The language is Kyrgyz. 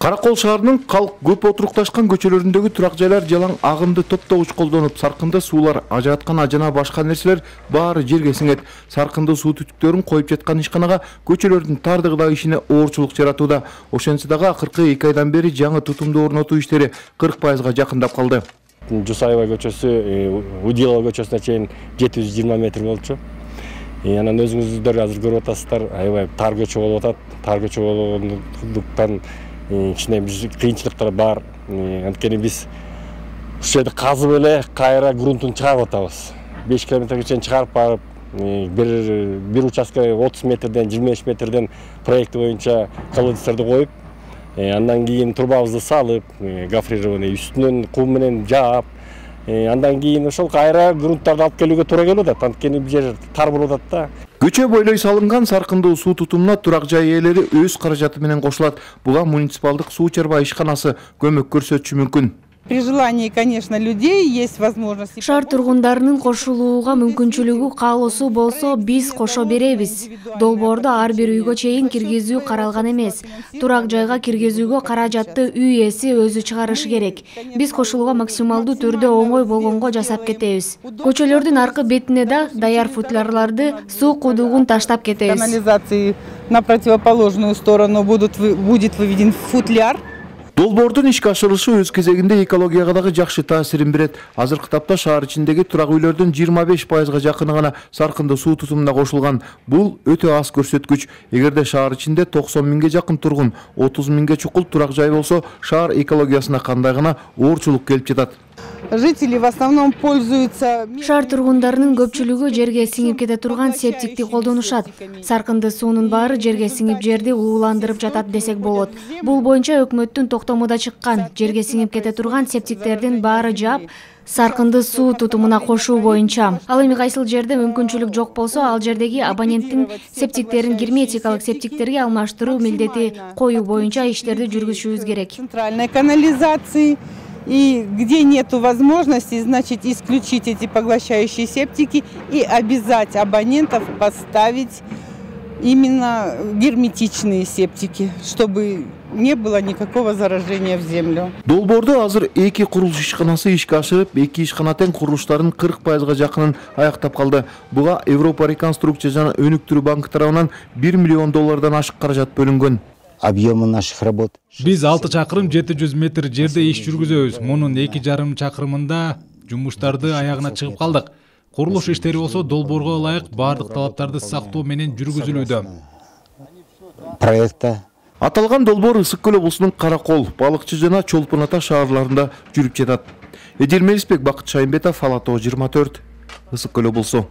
Каракол шаарынын калк көп отурукташкан көчөлөрүндөгү турак жайлар жалаң агымды топтогуч колдонуп, саркынды суулар, ажыраткан жана башка нерселер баары жерге сиңет. Саркынды суу түтүктөрүн коюп жаткан ишканага көчөлөрдүн тардыгы да ишине оорчулук жаратууда. Ошентсе дагы акыркы 2 айдан бери жаңы тутумду орнотуу иштери 40% жакындап калды. Жусаева көчөсү Удилова көчөсүнө чейин 720 метр болчу. Анан өзүңүздөр азыр көрүп атасыздар, аябай тар көчө болуп атат. Тар көчө болгондуктан кичине кыйынчылыктар бар. Анткени биз ушул жерде казып эле кайра грунтун чыгарып атабыз. 5 километрге чейин чыгарып барып, бир участка 30 метрден 25 метрден проекти боюнча колодецтерди коюп, андан кийин трубабызды салып, гофрированный үстүнөн кум менен жаап, андан кийин ошол кайра грунттарды алып келүүгө туура келип атат. Анткени бул жер тар болуп атат да. Көчө бойлой салынган саркындуу суу тутумуна турак жай ээлери өз каражаты менен кошулат. Буга муниципалдык суу чарба ишканасы көмөк көрсөтүшү мүмкүн. При желании, конечно, людей есть возможность. Шаар тургундарынын кошулууга мүмкүнчүлүгү каалоосу болсо, биз кошо беребиз. Долбоорду ар бир үйгө чейин киргизүү каралган эмес. Турак жайга киргизүүгө каражатты үй ээси өзү чыгарышы керек. Биз кошулууга максималдуу түрдө оңой болгонго жасап кетебиз. Көчөлөрдүн аркы бетине да даяр футлярларды, суу кудугун таштап кетебиз. Канализации на противоположную сторону будет выведен футляр. Долбоордун ишке ашырылышы өз кезегинде экологияга дагы жакшы таасирин берет. Азыркы тапта шаар ичиндеги турак үйлөрдүн 25% жакыны гана саркынды суу тутумуна кошулган. Бул өтө аз көрсөткүч. Эгерде шаар ичинде 90 миңге жакын тургун, 30 миңге чукул турак жай болсо, шаар экологиясына кандай гана оорчулук келип жатат. Жители в основном пользуются. Шаар тургундарынын көпчүлүгү жерге сиңип кете турган септикти колдонушат. Саркынды суунун баары жерге сиңип жерди ууландырып жатат десек болот. Бул боюнча өкмөттүн токтому да чыккан. Жерге сиңип кете турган септиктердин баары жаап, саркынды суу тутумуна кошуу боюнча. Ал эми кайсыл жерде мүмкүнчүлүк жок болсо, ал жердеги абоненттин септиктерин герметикалык септиктерге алмаштыруу милдети коюу боюнча иштерди жүргүзүшүбүз керек. Центральной канализации. И где нету возможности, значит, исключить эти поглощающие септики и обязать абонентов поставить именно герметичные септики, чтобы не было никакого заражения в землю. Долбоордо азыр 2 курулуш ишканасы ишке ашырып, 2 ишкана тең курулуштардын 40% жакынын аяктап калды. Буга Европа реконструкция жана өнүктүрүү банкы тарабынан $1 миллион ашык каражат бөлүнгөн. Объемы наших работ. Биз 6 чакырым 700 метр жерде иш жүргүзөбүз. Мунун 2,5 чакырымында жумуштарды аягына чыгып калдык. Курулуш иштери болсо долбоорго ылайык бардык талаптарды сактоо менен жүргүзүлүүдө. Проекта. Аталган долбоор Ысык Көл облусунун Каракол, Балыкчы жана Чолпон Ата шаарларында жүрүп жатат. Эдил Мелисбек, Бакыт Шайымбетов, Ала Тоо 24, Ысык Көл облусу.